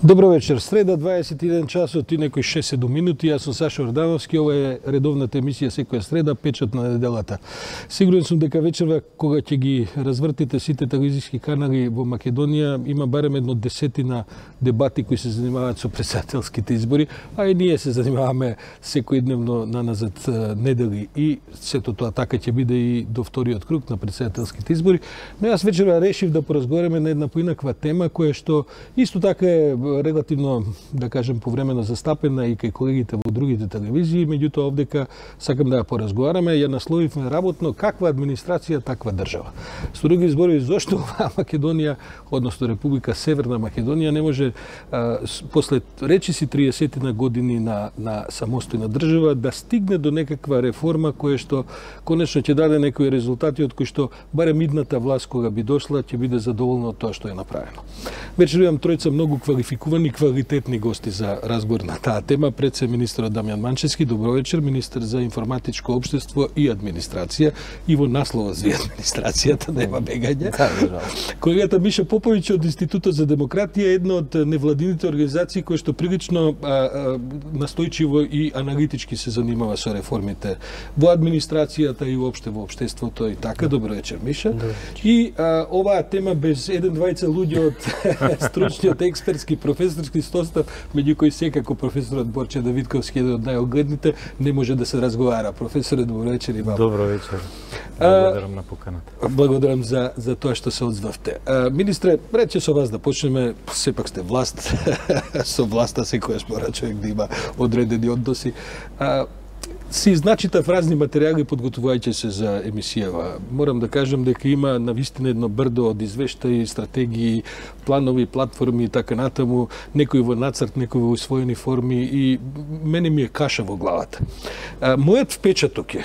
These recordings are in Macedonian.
Добро вечер. Среда 21 часот и некои 6-7 минути. Јас сум Саша Ордановски. Ова е редовната емисија секоја среда, печат на неделата. Сигурен сум дека вечерва кога ќе ги развртите сите телевизиски канали во Македонија, има барем едно десетина дебати кои се занимаваат со претседателските избори, а и ние се занимаваме секојдневно наназад недели и сето тоа така ќе биде и до вториот круг на претседателските избори. Но јас вечерва решив да поразговараме на една поинаква тема која што исто така е релативно, да кажем, повремено застапена и кај колегите во другите телевизии, меѓутоа овдека сакам да ја поразговараме, ја насловивме работно каква администрација, таква држава. Со други зборови, зошто оваа Македонија, односно Република Северна Македонија не може после речиси 30 години на самостојна држава да стигне до некаква реформа која што конечно ќе даде некои резултати од кои што барем идната власт кога би дошла ќе биде задоволна од тоа што е направено. Вечер имам тројца многу квалификувани, квалитетни гости за разговор на таа тема. Пред се министерот Дамјан Манчевски, добро вечер, министер за информатичко општество и администрација, и во наслова за администрацијата нема бегање. Колегата Миша Поповиќ од Институтот за демократија, една од невладините организации кои што прилично настојчиво и аналитички се занимава со реформите во администрацијата и уопште во општеството и така. Добро вечер, Миша. И оваа тема без еден-двајца луѓе од стручниот експертски професорски состав, меѓу кои секако професорот Борче Давидковски, еден од најогледните, не може да се разговара. Професоре, добро вечер и вам. Добро вечер. Благодарам на поканата. Благодарам за тоа што се одзвавте. Министре, рече со вас да почнеме, сепак сте власт, со власта секојаш мора човек да има одредени односи. Си изначитав разни материјали подготвувајќи се за емисијава. Морам да кажам дека има навистина едно брдо од извештаи, стратегии, планови, платформи и така натаму, некои во нацрт, некои во усвоени форми и мене ми е каша во главата. Мојот впечаток е,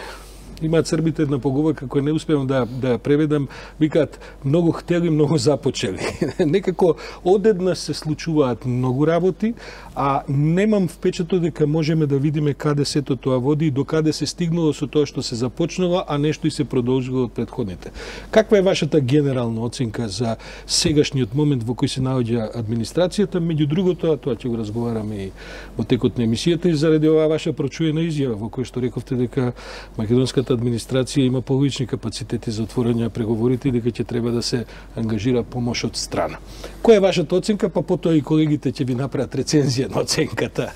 имаат србите една поговорка која не успевам да ја преведам, викаат многу хтели, многу започели. Некако одеднаш се случуваат многу работи, а немам впечаток дека можеме да видиме каде сето тоа води и до каде се стигнало со тоа што се започнало, а нешто и се продолжило од претходните. Каква е вашата генерална оценка за сегашниот момент во кој се наоѓа администрацијата, меѓу другото, а тоа ќе го разговараме и во текот на емисијата и заради оваа ваша прочуена изјава во која што рековте дека македонската администрација има полични капацитети за отворање на преговорите и дека ќе треба да се ангажира помош од страна. Која е вашата оценка, па потоа и колегите ќе ви направат рецензија на оценката?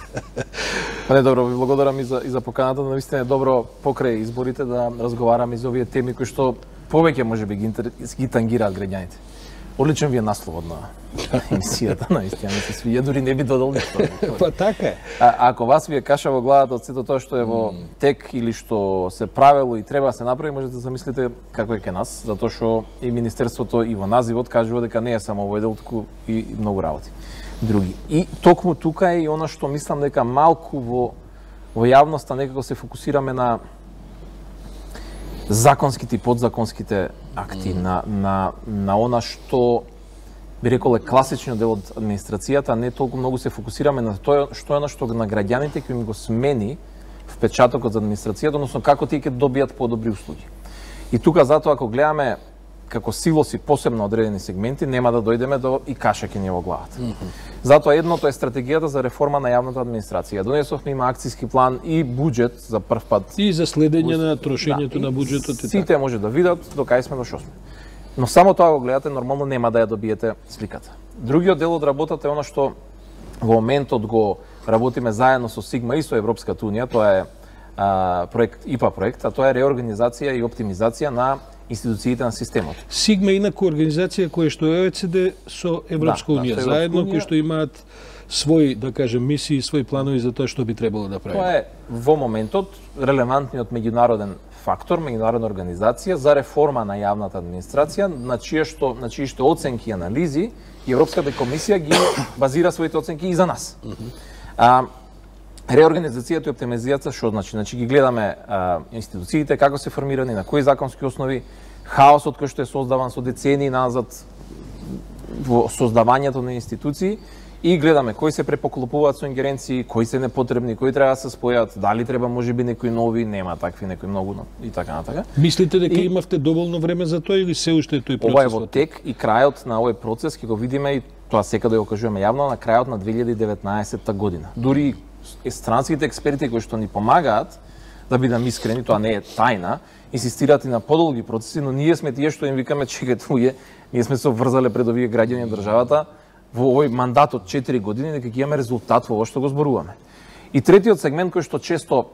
Не, добро, ви благодарам и за поканата. Навистина е добро покрај изборите да разговараме за овие теми кои што повеќе можеби ги тангираат граѓаните. Одличен ви е насловот на емисијата, наистина ми се свија, дури не би додал ништо. Па така е. Ако вас ви е каша во главата од сето тоа што е во тек или што се правело и треба да се направи, можете да замислите како е ке нас, затоа што и Министерството и во називот кажува дека не е само овој дел, туку и многу работи други. И токму тука е и она што мислам дека малку во јавноста некако се фокусираме на законските и подзаконските акти, на она што би рекол е класичниот дел од администрацијата, а не толку многу се фокусираме на тоа што е она што на граѓаните ќе ми го смени впечатокот за администрацијата, односно како тие ќе добијат подобри услуги. И тука затоа ако гледаме како силоси посебно одредени сегменти, нема да дојдеме до и каша ќе ни во главата. Затоа едното е стратегијата за реформа на јавната администрација. Донесовме има акцијски план и буџет за прв пат. И за следење на трошењето на буџетот и сите може да видат до кај сме, до шо сме. Но само тоа го гледате, нормално нема да ја добиете сликата. Другиот дел од работата е она што во моментот го работиме заедно со Сигма и со Европската унија, тоа е проект ИПА проект, а тоа е реорганизација и оптимизација на институциите на системот. Сигма е инаку организација која што е ОЕЦД со Европска унија заедно, кои што имаат своји, да кажем, мисии, своји планови за тоа што би требало да прави. Тоа е во моментот релевантниот меѓународен фактор, меѓународна организација за реформа на јавната администрација, на чии што оценки и анализи и Европската комисија ги базира своите оценки и за нас. Реорганизацијата и оптимизацијата што значи? Значи ги гледаме институциите, како се формирани, на кои законски основи, хаосот кој што е создаван со децении назад во создавањето на институции и гледаме кои се препоклопуваат со ингеренции, кои се непотребни, кои треба да се спојат, дали треба можеби некои нови, нема такви некои многу и така натака. Мислите дека имавте доволно време за тоа или се уште е тој процес? Ова е во тек и крајот на овој процес ќе го видиме и тоа секаде го кажуваме јавно, на крајот на 2019 година. Дури странските експерти кои што ни помагаат, да бидам искрени, тоа не е тајна, инсистираат и на подолги процеси, но ние сме тие што им викаме чекајте луѓе, ние сме се обврзале пред овие граѓани на државата во овој мандат од 4 години дека ќе имаме резултат во ово што го зборуваме. И третиот сегмент кој што често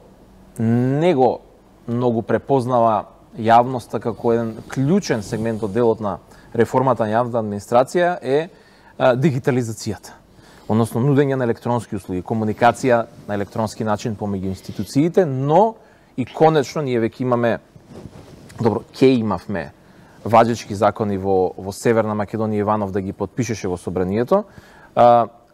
не го многу препознава јавноста како еден клучен сегмент од делот на реформата на јавната администрација е дигитализацијата. Односно нудење на електронски услуги, комуникација на електронски начин помеѓу институциите, но и конечно ние веќе имаме, добро, имавме важечки закони во Северна Македонија, Иванов да ги подпишеше во собранието,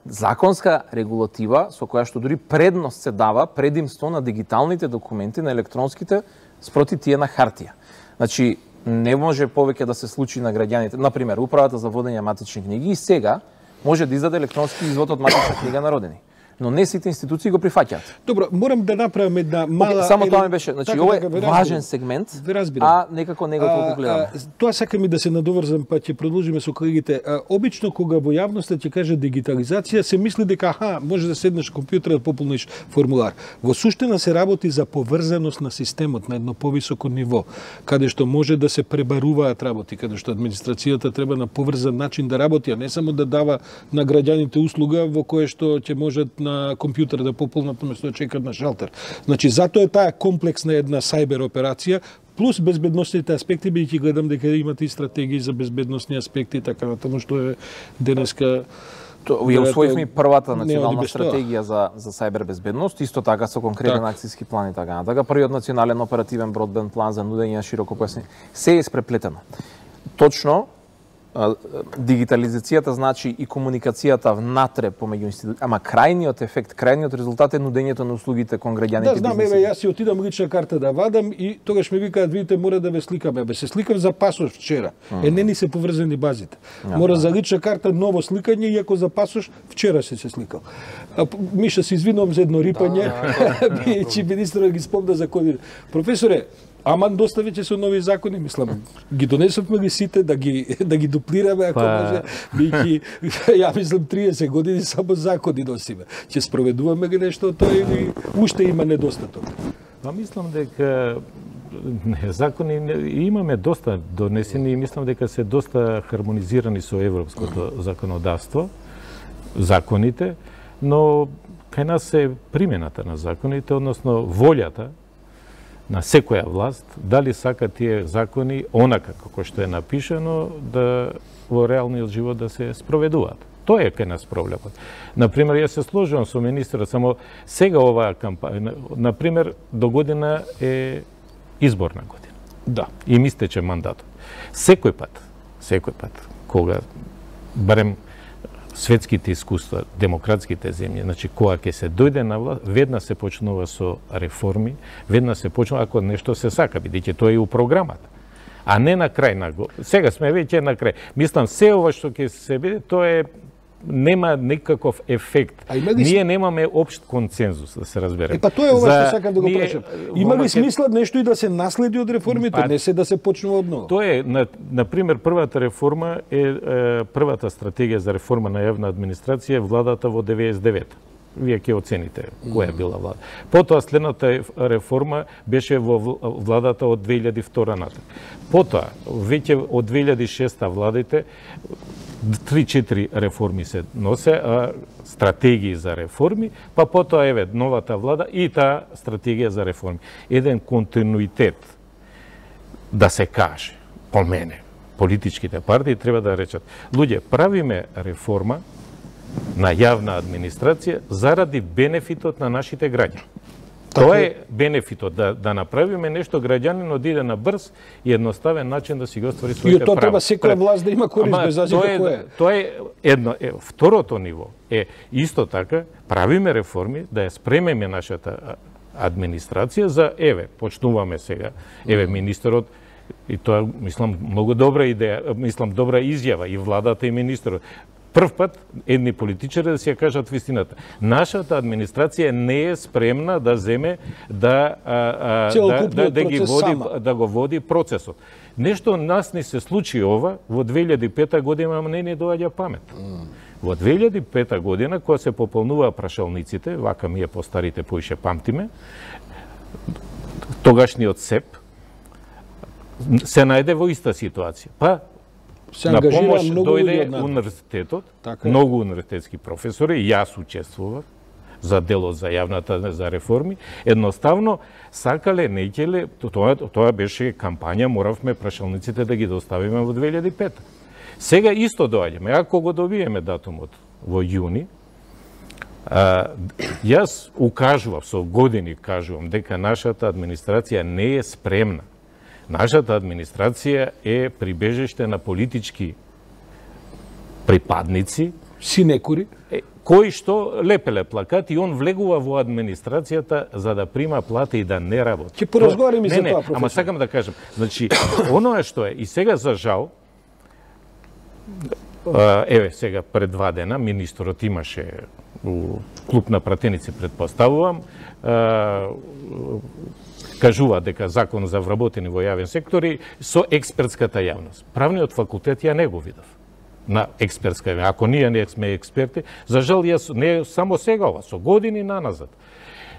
законска регулатива со која што дури предност се дава предимство на дигиталните документи, на електронските, спроти тие на хартија. Значи, не може повеќе да се случи на граѓаните. Например, Управата за водење матични книги и сега може да издаде електронски извод од матична книга на родени. Но не сите институции го прифаќаат. Добро, морам да направам една мала... Само тоа ми беше, значи ова е важен сегмент, а некако не го толку гледаме. Тоа сакам и да се надоврзам, па ќе продолжиме со колегите. Обично кога во јавноста ќе каже дигитализација, се мисли дека може да седнеш компјутер да пополниш формулар. Во суштина се работи за поврзаност на системот на едно повисоко ниво, каде што може да се пребаруваат работи, каде што администрацијата треба на поврзан начин да работи, а не само да дава на граѓаните услуга во кое што ќе можат на компјутер да пополнат наместо да чекат на шалтер. Значи, затоа е таа комплексна една сајбер операција, плюс безбедносните аспекти, бидејќи гледам дека имате и стратегии за безбедносни аспекти, така натаму што е денеска... Ја усвоивме првата национална стратегија за сајбер безбедност, исто така со конкретен акцијски план и така натака. Првиот национален оперативен бродбенд план за нудење на широкопојасни. Се е испреплетено. Точно, дигитализацијата значи и комуникацијата внатре помеѓу институции, ама крајниот ефект, крајниот резултат е нудењето на услугите кон граѓаните. Да, знам, јас си отидам лична карта да вадам и тогаш ми викаат, видите, мора да ве сликаме. Се сликав за пасош вчера. Не ни се поврзани базите. Мора за лична карта ново сликање, иако за пасош вчера се сликал. Миша, се извинувам за едно рипање, бидејќи министерот ги спомна за ковид. Професоре, аман доста веќе со нови закони, мислам, ги донесовме ги сите да ги дуплираме, ако може, бидејќи ја мислам 30 години само закони носиме. Ќе спроведуваме ги нешто тоа или уште има недостаток? Мислам дека закони имаме доста донесени и мислам дека се доста хармонизирани со европското законодавство, законите, но кај нас е примената на законите, односно волјата на секоја власт, дали сака тие закони, онака како што е напишано, да во реалниот живот да се спроведуваат. Тоа е кај нас проблемот. Например, јас се сложувам со министерот, само сега оваа кампања, например, до година е изборна година. Да. И ми истече мандатот. Секој пат, кога барем светските искуства, демократските земји, значи кога ќе се дојде на власт, веднаш се почнува со реформи, веднаш се почнува ако нешто се сака, бидејќи тоа е у програмата. А не на крај на го. Сега сме веќе на крај. Мислам се ова што ќе се биде, тоа е нема никаков ефект. Ние немаме општ консензус, да се разбереме. Па тоа е ова што сакам да го прашам. Има ли смисла нешто и да се наследи од реформите, не се да се почнува одново? Тоа е, на пример, првата реформа е првата стратегија за реформа на јавна администрација владата во 99. Вие ќе оцените која била влада. Потоа следната реформа беше во владата од 2002 натаму. Потоа веќе од 2006 владите 3-4 реформи се носе, стратегии за реформи, па потоа еве новата влада и таа стратегија за реформи. Еден континуитет да се каже, по мене, политичките партии треба да речат, луѓе, правиме реформа на јавна администрација заради бенефитот на нашите граѓани. Тоа е бенефитот, да направиме нешто граѓанинот да иде на брз и едноставен начин да си го оствари своите права. И тоа треба секоја власт да има корист без разлика која е. Тоа е едно. Второто ниво е исто така, правиме реформи, да ја спремеме нашата администрација за, почнуваме сега, министерот, и тоа, мислам, многу добра идеја, мислам, добра изјава и владата и министерот. Прв пат едни политичари да си ја кажат вистината. Нашата администрација не е спремна да земе да го води процесот. Нешто нас не се случи ова во 2005 година, ама не ни доаѓа памет. Во 2005 година, кога се пополнуваа прашалниците, вака ми е постарите поише памтиме, тогашниот СЕП се најде во иста ситуација. Па Се на ангажира помош многу дојде луѓе од нас. универзитетот, Така е. многу универзитетски професори, јас учествував за делот за јавната за реформи, едноставно сакале, неќеле, тоа беше кампања, моравме прашалниците да ги доставиме во 2005. Сега исто доаѓаме, ако го добиеме датумот во јуни, јас укажував, со години кажувам дека нашата администрација не е спремна. Нашата администрација е прибежиште на политички припадници, Синекури. кои што лепеле плакати и он влегува во администрацијата за да прима плата и да не работи. Ќе поразговараме за тоа, професор. Ама сакам да кажам, значи, оноа што е, и сега за жал, еве сега пред 2 дена, министрот имаше у клуб на пратеници, предпоставувам, кажува дека закон за вработени во јавен сектор и со експертската јавност. Правниот факултет ја не го видов на експертска јавност. Ако ние не сме експерти, за жал јас не само сега ова, со години наназад.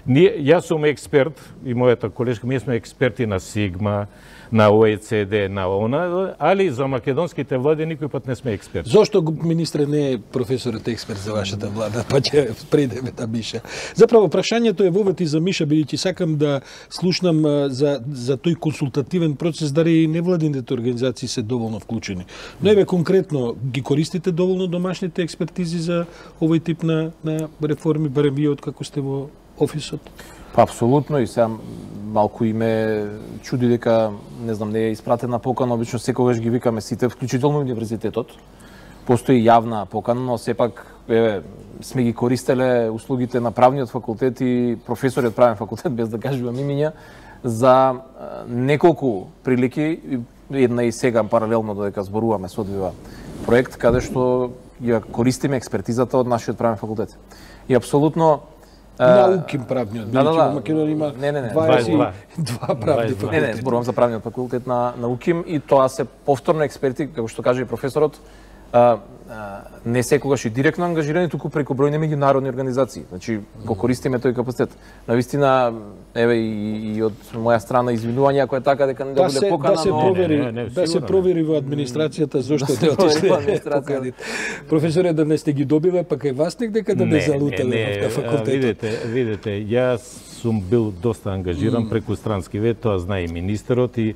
Јас сум експерт и мојата колешка, ние сме експерти на Сигма, на ОЕЦД, на ОНА, али за македонските влади никој пат не сме експерти. Зошто, министре, не е професорот експерт за вашата влада, па ќе придеме да Миша? Заправо, прашањето е вовет и за Миша, бидејќи сакам да слушнам за тој консултативен процес, дали и невладините организации се доволно вклучени. Но еве конкретно, ги користите доволно домашните експертизи за овој тип на реформи, барем вие откако сте во офисот? Па апсолутно, и сега малку и ме чуди дека, не знам, не е испратена покана, обично секогаш ги викаме сите, вклучително универзитетот. Постои јавна покана, но сепак еве сме ги користеле услугите на правниот факултет и професориот правен факултет, без да кажувам имиња, за неколку прилики, една и сега паралелно додека зборуваме со одвива проект, каде што ја користиме експертизата од нашиот правен факултет. И апсолутно Науким правниот, бидејќи во Македонија има 22 правни факултети. Не, зборувам за правниот факултет на УКИМ и тоа се повторно експерти, како што каже и професорот, не секогаш и директно ангажирани, туку преку бројни меѓународни организации. Значи, го користиме тој капацитет. Навистина, еве и од моја страна извинување ако е така дека не добиле покана, да се провери во администрацијата зошто не отишле поканите. Професоре, да не сте ги добиле, па кај вас дека да не залутале во факултетот. Видете, јас сум бил доста ангажиран преку странски вет, тоа знае и министерот и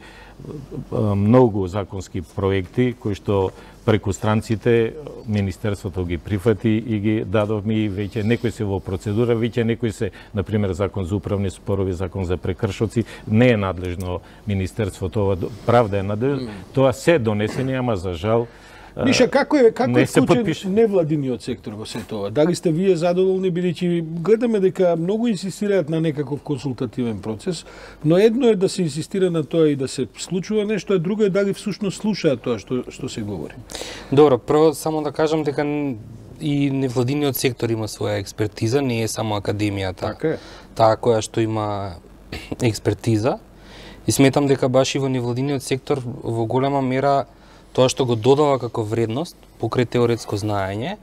многу законски проекти кои што преку странците министерството ги прифати и ги дадовме и веќе некои се во процедура, веќе некои се, например, закон за управни спорови, закон за прекршоци, не е надлежно министерството, ова правда е надлежно, тоа се донесени, ама за жал Миша, како е вклучен невладиниот сектор во сето ова? Дали сте вие задоволни, бидејќи гледаме дека многу инсистираат на некаков консултативен процес, но едно е да се инсистира на тоа и да се случува нешто, а друго е дали всушност слушаат тоа што се говори. Добро, прво само да кажам дека и невладиниот сектор има своја експертиза, не е само академијата. Така е. Таа која што има експертиза. И сметам дека баш и во невладиниот сектор во голема мера тоа што го додава како вредност покрај теоретско знаење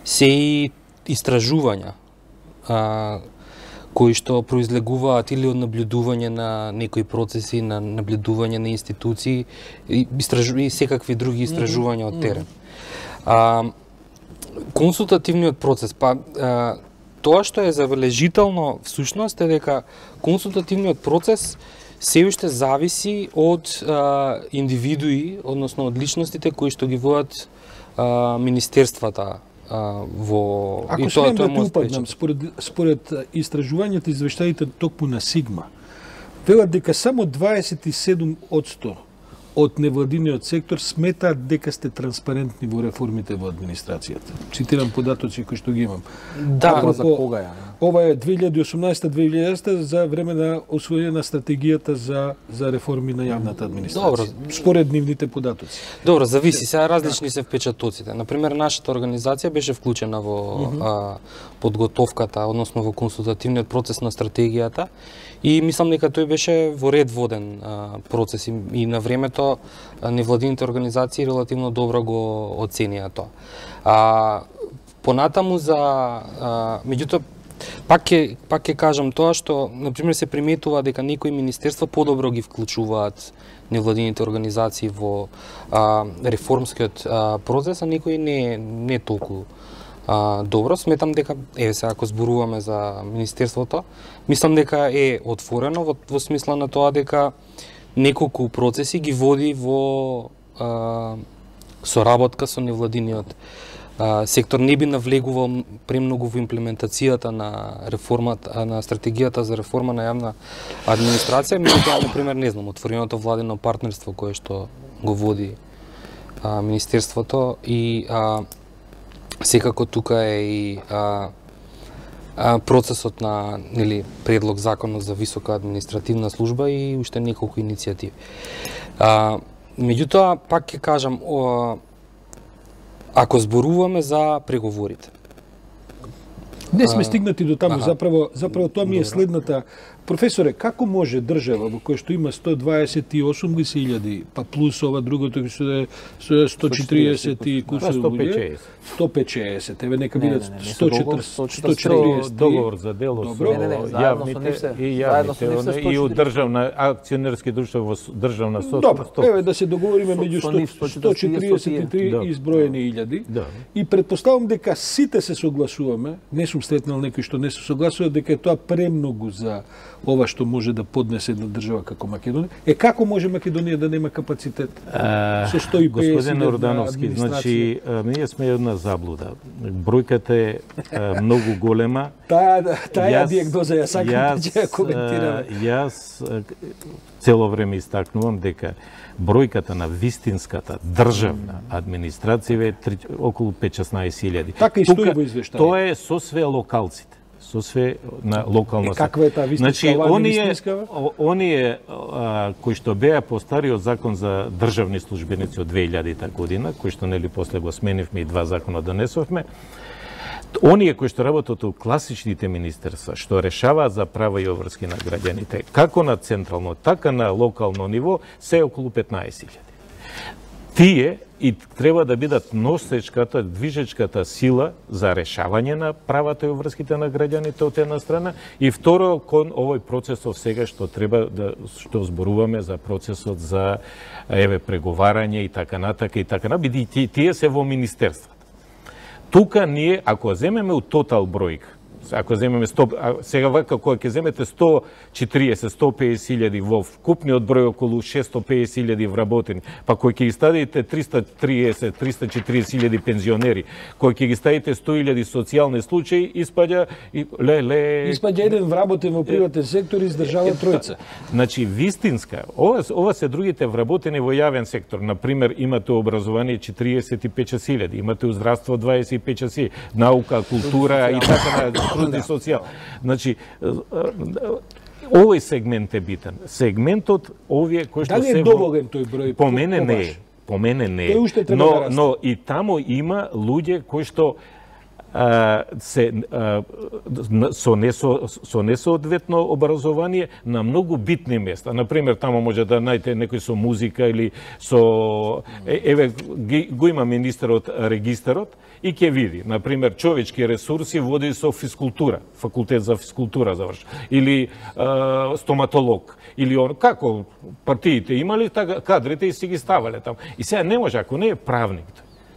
се и истражувања кои што произлегуваат или од наблюдување на некои процеси, на наблюдување на институции и секакви други истражувања од терен. Консултативниот процес, тоа што е забележително всушност е дека консултативниот процес се уште зависи од индивидуи, односно од личностите кои што ги водат министерствата во... Ако смеем да те упаднам, според истражувањата извештаите токму на Сигма, велат дека само 27% од невладиниот сектор сметаат дека сте транспарентни во реформите во администрацијата. Цитирам податоци кои што ги имам. Да, за кога ја? Ова е 2018-2019 за време на освојување на стратегијата за реформи на јавната администрација. Добро. Според нивните податоци. Добро, зависи, сега различни се впечатоците. Например, нашата организација беше вклучена во подготовката, односно во консултативниот процес на стратегијата и мислам дека тој беше во ред воден процес и на времето невладините организации релативно добро го оценија тоа. Понатаму за меѓутоа пак ќе кажам тоа што на пример се приметува дека некои министерства подобро ги вклучуваат невладините организации во реформскиот процес, а некои не толку добро. Сметам дека сега ако зборуваме за министерството, мислам дека е отворено во смисла на тоа дека неколку процеси ги води во соработка со невладиниот сектор. Не би навлегувал премногу во имплементацијата на реформата, на стратегијата за реформа на јавна администрација, меѓутоа, например, не знам, отвореното владено партнерство кое што го води министерството и секако тука е и процесот на предлог законот за висока административна служба и уште неколку иницијативи. Меѓутоа, пак ќе кажам, ако зборуваме за преговорите. Не сме стигнати до таму, заправо тоа ми е следната. Професоре, како може држава во која што има 128.000, па плюс ова другото што е 140 и кусор луѓе, 150, еве нека бидат 140 договор за дело со јавните и од државна акционерски друштва во државна собственост. Добро, еве да се договориме меѓу 143 изброени илјади и претпоставам дека сите се согласуваме, не сум сретнал некој што не се согласува дека е тоа премногу за ова што може да поднесе една држава како Македонија. Како може Македонија да нема капацитет со 150 Господин Ордановски, значи ние сме една заблуда. Бројката е многу голема. Таа диагноза ја сакам да ја коментираме. Јас цело време истакнувам дека бројката на вистинската државна администрација е околу 5-16.000. Така и стои во извештајот. Тоа е со све локалците. Со све на локална. Каква е таа вистинска, оние кои што беа по стариот закон за државни службеници од 2000 година, кои што нели после го сменивме и 2 закона донесовме, оние кои што работат у класичните министерства, што решаваат за права и обврски на граѓаните, како на централно, така на локално ниво, се околу 15.000. Тие и треба да бидат носечката, движечката сила за решавање на правата и обврските на граѓаните од една страна и второ кон овој процесов сега што треба што зборуваме за процесот за преговарање и така натака, бидејќи тие се во министерствата. Тука ние ако земеме у тотал бројка, ако земеме 100, сега вака кога ќе земете 140-150.000 во вкупниот број околу 650.000 вработени, па кој ќе ги ставите 330-340.000 пензионери, кој ќе ги ставите 100.000 социјални случаи, испаѓа еден вработен во приватен сектор и издржава тројца. Значи вистинска, ова се другите вработени во јавен сектор. На пример, имате образование 45.000, имате здравство 25.000, наука, култура и така труд и социјал. Значи, овој сегмент е битен. Сегментот овие кои што се... Дали е доволен тој број? По мене не е. По мене не е. Но и таму има луѓе кои што со несоодветно образование на многу битни места. Например, тамо може да најдете некој со музика или со... Еве, го има министерот регистарот и ќе види. Например, човечки ресурси води со физкултура, факултет за физкултура заврши. Или стоматолог. Или он, како партиите имали, така кадрите и си ги ставале таму. И сега не може, ако не е правник,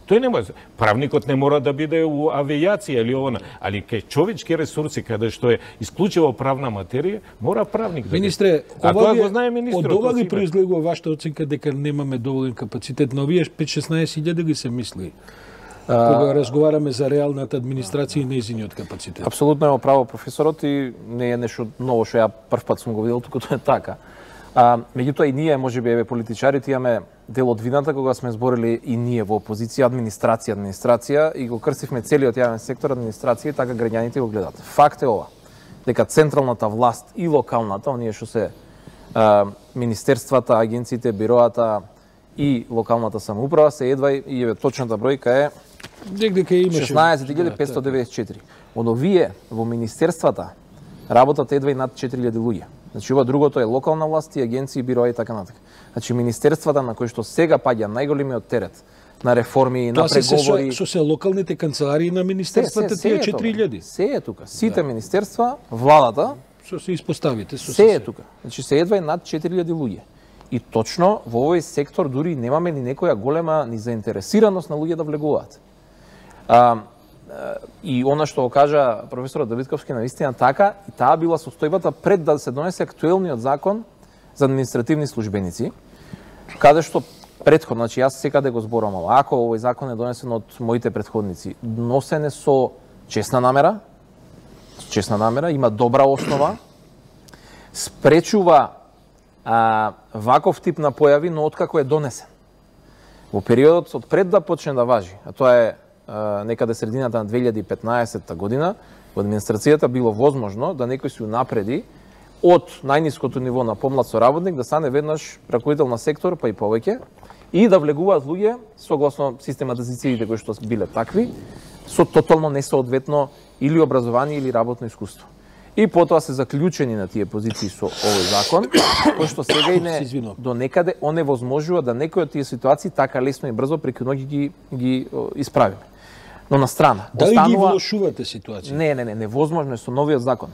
тој не може. Правникот не мора да биде у авијација или она, али кај човечки ресурси, каде што е исклучиво правна материја, мора правник да биде. Министре, а тоа го знае министерот. Од ова ли произлегува вашата оценка дека немаме доволен капацитет на овие 5-16.000 ги се мисли? Кога разговараме за реалната администрација и нејзиниот капацитет. Апсолутно има право професорот и не е нешто ново што ја прв пат сум го видел, туку тоа е така. Меѓутоа и ние, можеби еве политичарите, имаме дел од вината кога сме зборили и ние во опозиција администрација и го крстивме целиот јавен сектор администрација и така граѓаните го гледат. Факт е ова, дека централната власт и локалната, оние што се министерствата, агенциите, бироата и локалната самоуправа се едва и еве точната бројка е 16.594. Од овие во министерствата работат едва и над 4.000 луѓе. Значи ова другото е локална власт и агенции, бироа и така натака. Значи министерствата на кои што сега паѓа најголемиот терет на реформи, на преговори. Тоа се локалните канцеларии на министерствата, тие 4000. Се е тука. Сите министерства, владата, што се испоставите, се е тука. Значи се едва над 4000 луѓе. И точно во овој сектор дури немаме ни некоја голема ни заинтересираност на луѓе да влегуваат. И она што го кажа професорот Давидковски навистина така, и таа била состојбата пред да се донесе актуелниот закон за административни службеници, каде што претходно, значи јас секаде го зборувам, ако овој закон е донесен од моите претходници, носене со честна намера, има добра основа, спречува ваков тип на појави, но откако е донесен. Во периодот од пред да почне да важи, а тоа е некаде средината на 2015 година, во администрацијата било возможно да некој се унапреди од најниското ниво на помлад соработник да стане веднаш раководител на сектор, па и повеќе, и да влегуваат луѓе согласно систематизациите кои што биле такви, со тотално несоодветно или образование или работно искуство. И потоа се заклучени на тие позиции со овој закон, кој што сега и не до некаде оневозможува да некои од тие ситуации така лесно и брзо преку ноќ ги исправиме. Но на страна, дали ги влошувате ситуација? Не, невозможно е со новиот закон.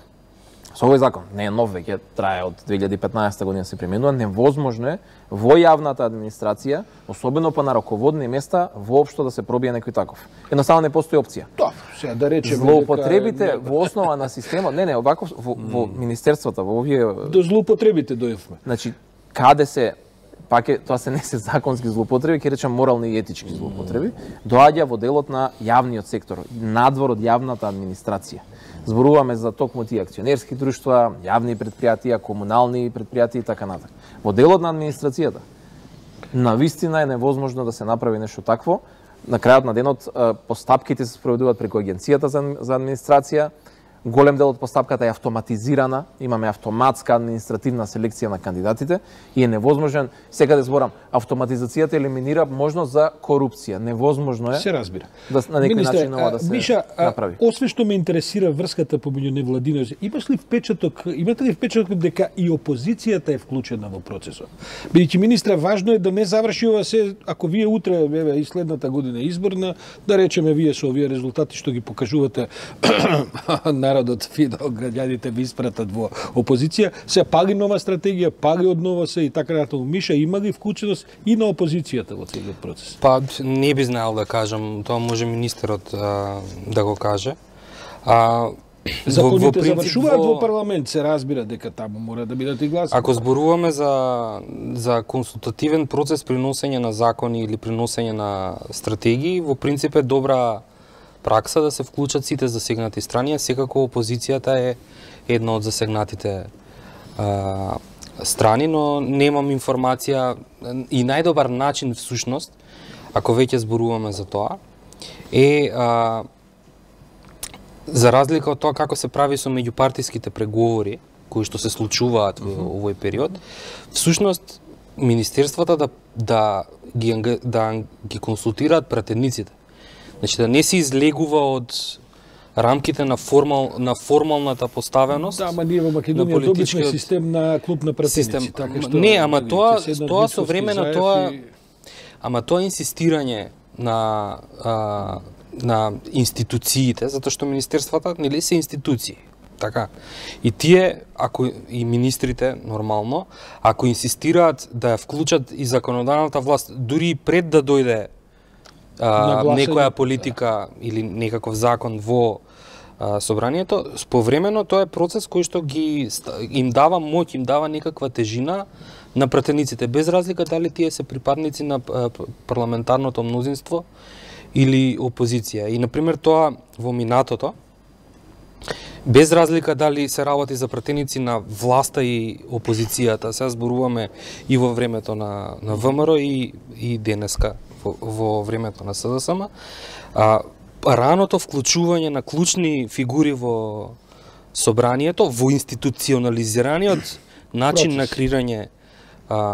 Со овој закон, не е нов, веќе трае од 2015 година се применува, невозможно е во јавната администрација, особено па на раководни места, воопшто да се пробие некој таков. Едноставно не постои опција. Сега да речеме злоупотребите во основа на системот, не, овако во министерствата, во овие до злоупотребите дојавме. Значи, каде се пак е, тоа се не се законски злоупотреби, ќе речам морални и етички злоупотреби, доаѓа во делот на јавниот сектор, надвор од јавната администрација. Зборуваме за токму тие акционерски друштва, јавни предпријатија, комунални предпријатија и така натаму. Во делот на администрацијата, навистина е невозможно да се направи нешто такво. На крајот на денот постапките се спроведуваат преку агенцијата за администрација. Голем дел од постапката е автоматизирана, имаме автоматска административна селекција на кандидатите и е невозможен, сега да зборам, автоматизацијата елиминира можност за корупција. Невозможно е. Се разбира. Да на некој начин ова да се Миша, направи. Освен што ме интересира врската помеѓу невладиноси, имате ли впечаток дека и опозицијата е вклучена во процесот? Бидејќи министре, важно е да не заврши ова се, ако вие утре, и следната година изборна, да речеме вие со овие резултати што ги покажувате народот, граѓаните ви испратат во опозиција, се пали нова стратегија, пали од нова се и така натаму. Миша, има ли вклученост и на опозицијата во целиот процес? Па не би знаел да кажам, тоа може министерот да го каже. Законите завршуваат во парламент, се разбира дека таму мора да бидат и гласни. Ако зборуваме за консултативен процес при носење на закони или при носење на стратегии, во принцип е добра пракса да се вклучат сите засегнати страни, а секако опозицијата е една од засегнатите страни, но немам информација и најдобар начин всушност, ако веќе зборуваме за тоа, е за разлика од тоа како се прави со меѓупартиските преговори, кои што се случуваат во овој период, всушност министерствата да ги консултираат пратениците. Значи да не се излегува од рамките на формалната поставеност. Да, ама ние во Македонија добивме систем на клуб на пратеници, така што не, ама тоа со време на тоа, ама тоа инсистирање на институциите, затоа што министерствата нели се институции. Така. И тие, ако и министрите нормално, ако инсистираат да ја вклучат и законодавната власт дури пред да дојде некоја политика или некаков закон во собранието, повремено тоа е процес кој што им дава моќ, им дава некаква тежина на пратениците, без разлика дали тие се припадници на парламентарното мнозинство или опозиција. И, например, тоа во минатото, без разлика дали се работи за пратеници на власта и опозицијата, сега зборуваме и во времето на ВМРО и денеска во времето на СДСМ, раното вклучување на клучни фигури во собранието, во институционализираниот начин на креирање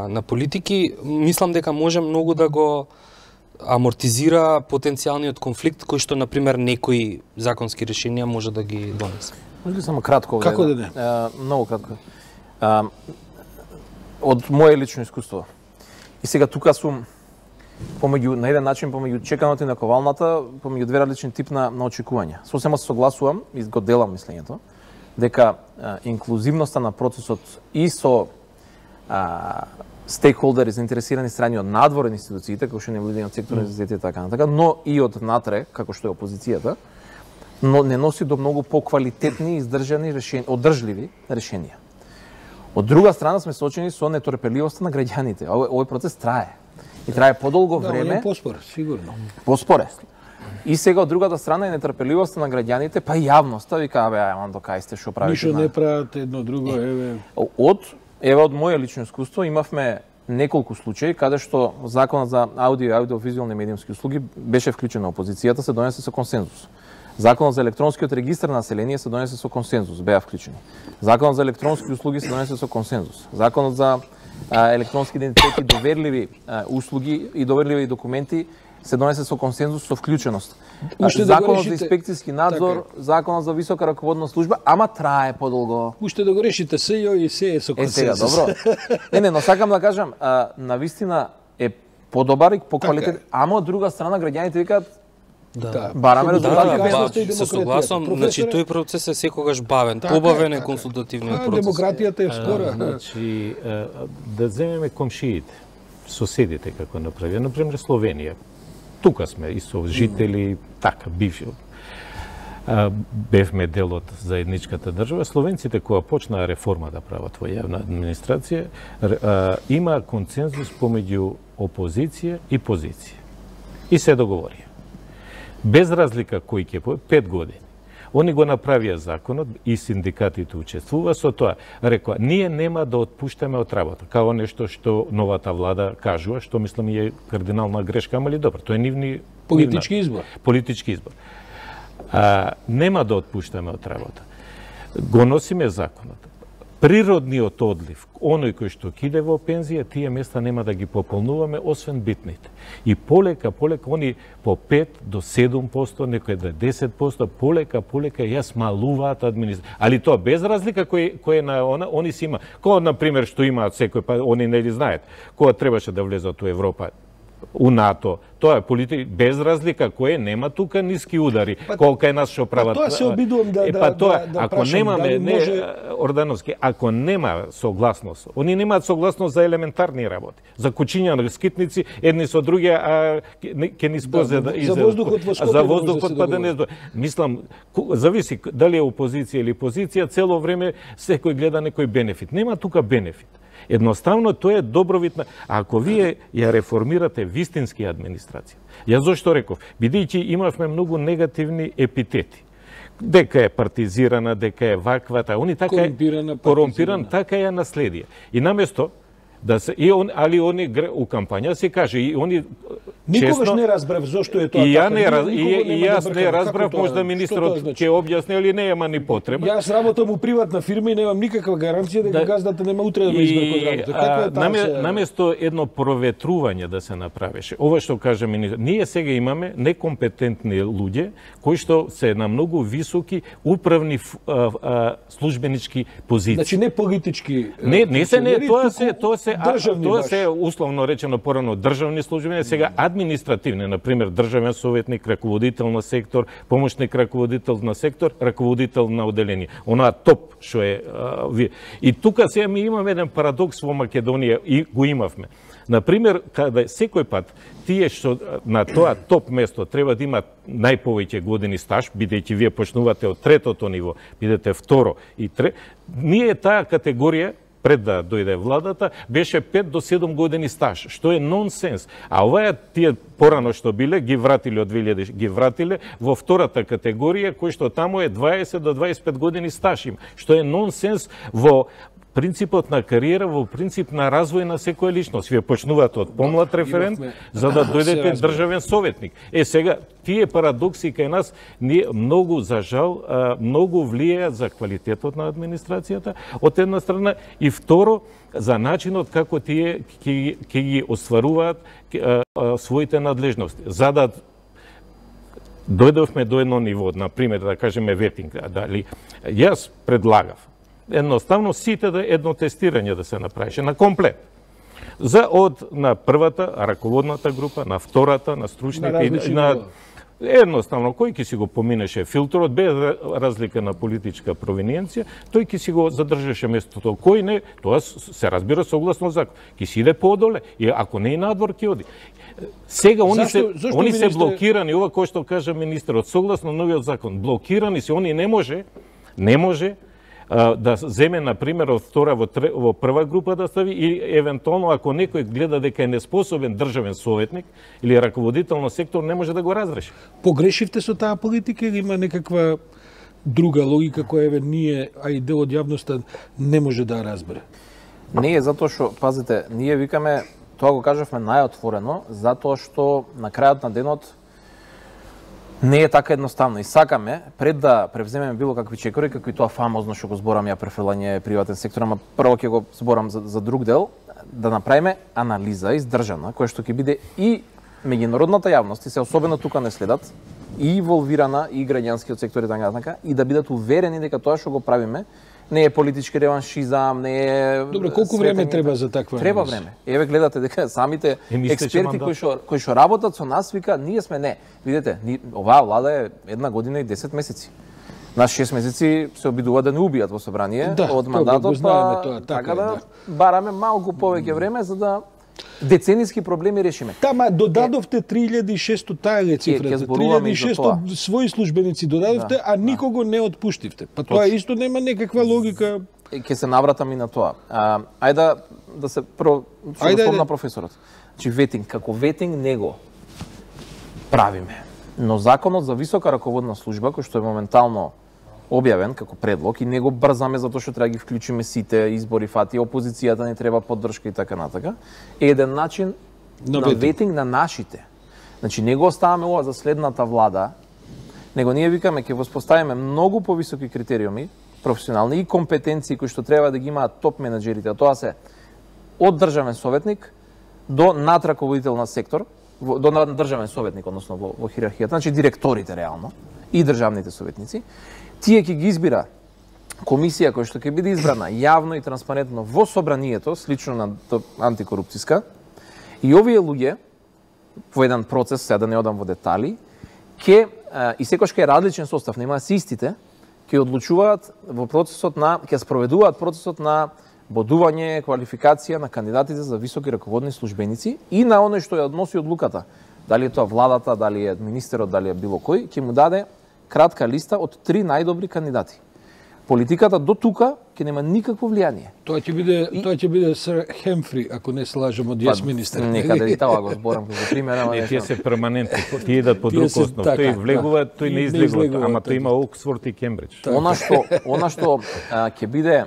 на политики, мислам дека може многу да го амортизира потенцијалниот конфликт кој што, например, некои законски решенија може да ги донесе. Може ли само кратко? Како да не? Многу кратко. Од моје лично искуство. И сега тука сум на еден начин помеѓу чеканото и наковалната, помеѓу две различни тип на очекувања. Сосема се согласувам и го делам мислењето дека инклузивноста на процесот и со стейкхолдери, заинтересирани страни од надвор од институциите, како што невладиниот сектор, универзитети и така натака, но и од натре, како што е опозицијата, но не носи до многу поквалитетни, издржани решенија, одржливи решенија. Од друга страна сме соочени со нетрпеливоста на граѓаните. Овој процес трае. И трае подолго време. Да, поспор, сигурно. Поспоре. И сега од другата страна е нетрпеливоста на граѓаните, па и јавноста вика, ајде, кај сте, што правите? Ништо не прават едно друго, Од моје лично искуство имавме неколку случаи каде што законот за аудио и аудиовизуални медиумски услуги беше вклучен на опозицијата, се донесе со консензус. Законот за електронскиот регистар на население се донесе со консензус, беа вклучени. Законот за електронски услуги се донесе со консензус. Законот за електронски идентитети, доверливи услуги и доверливи документи се донесе со консензус, со вклученост. Законот за инспекцијски надзор, законот за висока раководна служба, ама трае подолго. Уште да го решите сејо и се е со консензус. Сега, добро. Не, но сакам да кажам, навистина е подобар и поквалитет, ама од друга страна граѓаните викаат бараме резултати. Се согласувам, значи тој процес е секогаш бавен, побавен е консултативниот процес. Демократијата е скора. Значи, да земеме комшиите, соседите како направија, например Словенија. Тука сме и со жители, така, бивши. Бевме дел од заедничката држава. Словенците кога почнаа реформа да прават во јавна администрација, има консензус помеѓу опозиција и позиција. И се договорија. Без разлика кој ќе 5 години. Они го направија законот и синдикатите учествува со тоа. Рекоа, ние нема да отпуштаме од работа. Као нешто што новата влада кажува, што мислам е кардинална грешка, ама ли добро, тоа е нивни политички избор. Политички избор. Нема да отпуштаме од работа. Го носиме законот. Природниот одлив, оној кој што киде во пензија, тие места нема да ги пополнуваме, освен битните. И полека, они по 5 до 7%, некој да 10%, полека ја смалуваат администрација. Али тоа без разлика кој е на она, они си има. Кога, например, што имаат секој, па они не ли знаат, кога требаше да влезат у Европа, у НАТО, тоа е политика, без разлика кој нема тука ниски удари, колка е нас што прават. Тоа се обидувам да ако немаме, Ордановски, ако нема согласност, они немаат согласност за елементарни работи, за кучиња на скитници, едни со други, ќе ни спозе за воздухот во Скопје. За воздухот па да не мислам, зависи дали е опозиција или позиција, цело време секој гледа некој бенефит. Нема тука бенефит. Едноставно тоа е добровитна. Ако вие ја реформирате вистински администрација, ја зошто реков, бидејќи имавме многу негативни епитети. Дека е партизирана, дека е ваквата, они така е корумпиран, така ја наследија. И наместо да се али они у кампања се каже и они никогаш не разбрав зошто е тоа така. И јас не разбрав, можда министрот ќе објасни или не, ама ни потреба. Јас работам у приватна фирма и немам никаква гаранција дека газдата нема утре да ме избрка од работа. Каква е таа? Наместо едно проветрување да се направеше, ова што каже министр, ние сега имаме некомпетентни луѓе кои што се на многу високи управни службенички позиции. Значи не политички. Не се, тоа се условно речено порано државни службени, сега административни, например државен советник, раководител на сектор, помошник раководител на сектор, раководител на оделение. Онаа топ што е и тука сега ми имаме еден парадокс во Македонија и го имавме. Например, каде секој пат тие што на тоа топ место треба да имат најповеќе години стаж, бидејќи вие почнувате од третото ниво, бидете второ и ние таа категорија пред да дојде владата, беше 5 до 7 години стаж, што е нонсенс. А оваа тие порано што биле, ги вратиле од 2000, ги вратиле во втората категорија, кој што таму е 20 до 25 години стаж им, што е нонсенс во принципот на кариера, во принцип на развој на секоја личност. Вие почнувате од помлад референт, за да дојдете државен советник. Сега, тие парадокси кај нас многу, за жал, многу влијаат за квалитетот на администрацијата, од една страна, и второ, за начинот како тие ќе ги остваруваат своите надлежности. За да дојдовме до едно ниво, например, да кажеме ветинг, дали јас предлагав едноставно сите едно тестирање да се направише на комплет. на првата раководната група, на втората, на стручните и на едноставно, кој ќе си го поминеше филтерот, без разлика на политичка провиниенција, тој ќе си го задржаше местото. Кој не, тоа се разбира согласно закон. Ќе си иде подоле, и ако не и надвор ќе оди. Сега они се блокирани, ова кој што кажа министерот, согласно новиот закон, блокирани се, они не може да земе, например, од втора во прва група да стави и евентуално ако некој гледа дека е неспособен државен советник или раководител на сектор, не може да го разреши. Погрешивте со таа политика или има некаква друга логика која ние, а и дел од јавноста не може да разбере? Не е затоа што, пазите, ние викаме, тоа го кажавме најотворено, затоа што на крајот на денот не е така едноставно и сакаме пред да превземеме било какви чекори, како и тоа фамозно што го зборам ја префрлање приватен сектор, ама прво ќе го зборам за друг дел, да направиме анализа издржана, која што ќе биде и меѓународната јавност, и се особено тука не следат, и инволвирана и граѓанскиот сектор и така, и да бидат уверени дека тоа што го правиме не е политички реваншизам, не е... Добре, колку време треба за таква анализа? Треба време. Еве гледате дека самите експерти кои што работат со нас вика, ние сме не. Видете, оваа влада е 1 година и 10 месеци. На 6 месеци се обидуваат да не убијат во собрание од мандатот, така да бараме малку повеќе време за да децениски проблеми решиме. Тама додадовте 3600, таа е цифрата. 3600 своји службеници додадовте, а никого не отпуштивте. Па тоа исто нема некаква логика. Ќе се навратам и на тоа. Ајде да се прво спомна професорот. Значи ветинг, како ветинг него правиме. Но законот за висока раководна служба, кој што е моментално објавен како предлог и него брзаме затоа што треба да ги вклучиме сите избори, фати, опозицијата не треба поддршка и така натака, е еден начин на ветинг на нашите. Значи него оставаме ова за следната влада, него ние викаме ќе воспоставиме многу повисоки критериуми, професионални и компетенции кои што треба да ги имаат топ менаџерите, а тоа се од државен советник до надраководител на сектор, до државен советник, односно во хиерархијата, значи директорите реално и државните советници. Тие ќе ги избира комисија која што ќе биде избрана јавно и транспарентно во собранието, слично на антикорупцијска. И овие луѓе во еден процес, сега да не одам во детали, и секојаш ќе е различен состав, нема се истите, ќе одлучуваат во процесот ќе спроведуваат процесот на бодување, квалификација на кандидатите за високи раководни службеници и на оној што ја односи одлуката. Дали е тоа владата, дали е министерот, дали е било кој, ќе му даде кратка листа од 3 најдобри кандидати. Политиката до тука ќе нема никакво влијание. Тоа ќе биде Сер Хемфри, ако не се лажам, од јас министер. Некаде и тоа го зборам како пример, ама не тие се перманентни, тие идат по друг основ. Тој влегува, тој не излегува, ама тој има Оксфорд и Кембридж. Она што ќе биде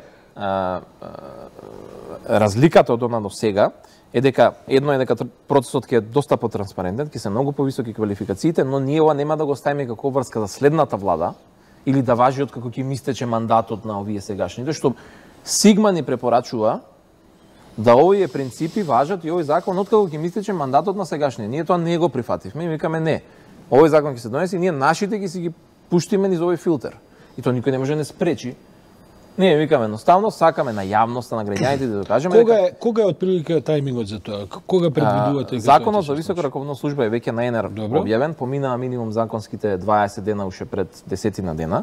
разликата од она до сега е дека дека процесот ќе е доста потранспарентен, ќе се многу повисоки квалификациите, но ние ова нема да го ставиме како врска за следната влада или да важи од како ќе ми истече мандатот на овие сегашните, што Сигма ни препорачува да овие принципи важат и овој закон откако ќе ми истече мандатот на сегашниот. Ние тоа не го прифативме и викаме не. Овој закон ќе се донесе и ние нашите ќе си ги пуштиме низ овој филтер. И тоа никој не може да не спречи. Ние викаме едноставно, сакаме на јавноста, на граѓаните да докажеме Кога е отприлика тајмингот за тоа? Кога предвидувате? Законот за висока раководна служба е веќе на ЕНР објавен, поминаа минимум законските 20 дена уште пред 10 дена.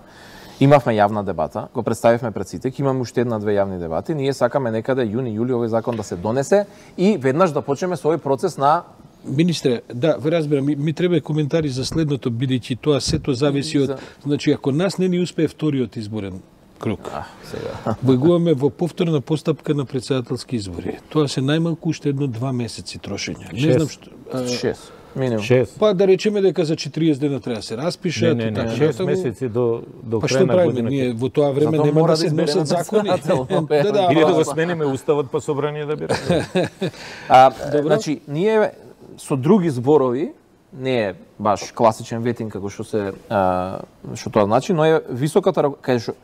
Имавме јавна дебата, го представивме пред сите, ќе имаме уште 1-2 јавни дебати. Ние сакаме некаде јуни-јули овој закон да се донесе и веднаш да почнеме со овој процес на Министре, да, ве разбирам, ми треба коментари за следното, бидејќи тоа сето зависи од, значи ако нас не ни успее вториот изборен круг. Влегуваме во повторна постапка на претседателски избори. Тоа се најмалку уште 1-2 месеци трошење. Не знам што 6 минимум. Па да речеме дека за 40 дена треба да се распишат. Не, 6 месеци до крај на годината. Ние во тоа време нема да се носат закони. Или да го смениме уставот па собрание да бира. Значи, ние со други зборови, не е баш класичен ветинг како што тоа значи, но е високата кај што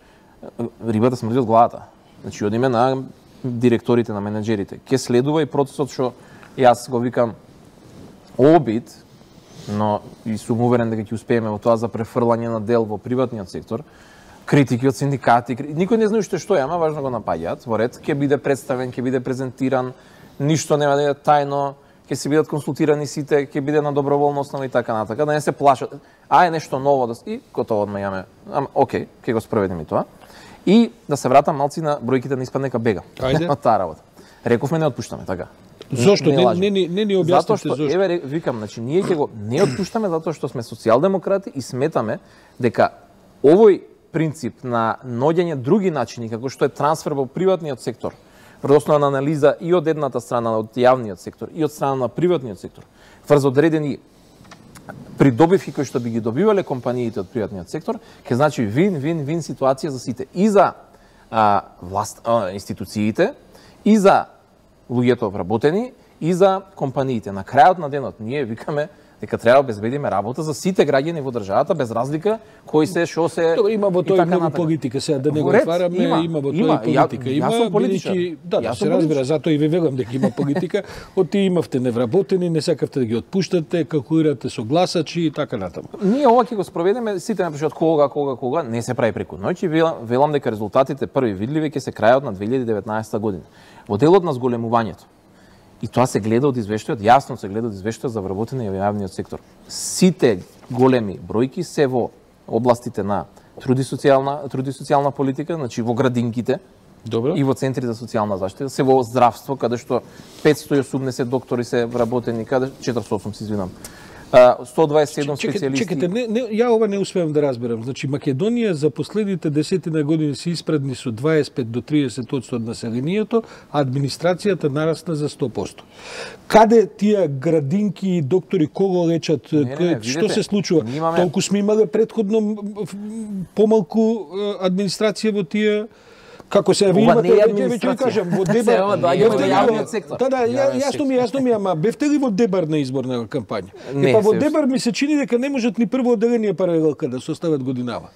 рибата смрди од главата. Значи, одиме на директорите, на менеджерите. Ке следува и процесот што јас го викам обид, но и сум уверен дека ќе успееме во тоа за префрлање на дел во приватниот сектор. Критики од синдикати, никој не знае што е, ама важно го напаѓаат во ред, ќе биде представен, ќе биде презентиран, ништо нема да е тајно, ќе се бидат консултирани сите, ќе биде на доброволна основа и така натака, да не се плашат. Е нешто ново да и готово одма јаме. Океј, ќе го спроведеме тоа. И да се вратам малци на бројките, да испадне дека бега. Ајде. Од таа работа. Рековме не отпуштаме, така. Зошто? Не ни објасните зошто. Зошто? Еве викам, значи ние ќе го не отпуштаме затоа што сме социјалдемократи и сметаме дека овој принцип на наоѓање други начини како што е трансфер во приватниот сектор, врз основа на анализа и од едната страна од јавниот сектор и од страна на приватниот сектор, врз одредени придобивки кои што би ги добивале компаниите од приватниот сектор, ќе значи вин ситуација за сите, и за институциите, и за луѓето вработени, и за компаниите. На крајот на денот ние викаме дека треба да обезбедиме работа за сите граѓани во државата без разлика кои се, шо се. Добро, има во тоа многу политика, сега да не го отвараме, има во тоа политика. Јас сум политичар. Да, се разбира, затоа и ви велам дека има политика. Од тие имавте невработени, не сакавте да ги отпуштате, калкулирате со гласачи и така натаму. Ние ова ќе го спроведеме, сите напишат кога, не се прави преку ноќ и велам дека резултатите први видливи ќе се крајат на 2019 година. Во делот на зголемувањето. И тоа се гледа од извештајот, јасно се гледа од извештајот за вработени во јавниот сектор. Сите големи бројки се во областите на труд и социјална политика, значи во градинките. Добро. И во центри за социјална заштита, се во здравство, каде што 580 доктори се вработени, каде 408 се извинам. 127 специјалисти. Чекате, ја ова не успеам да разберам. Значи Македонија за последните 10 години се испредни со 25 до 30% од населението, а администрацијата нарасна за 100%. Каде тие градинки и доктори кого лечат? Што се случува? Толку сме имале претходно помалку администрација во тие. Како се ви имате, веќе ви кажам, во Дебар. Да, јасно ми, ама бевте ли во Дебар на изборна кампања? Па во Дебар ми се чини дека не можат ни прво одделение паралелка да состават годинава.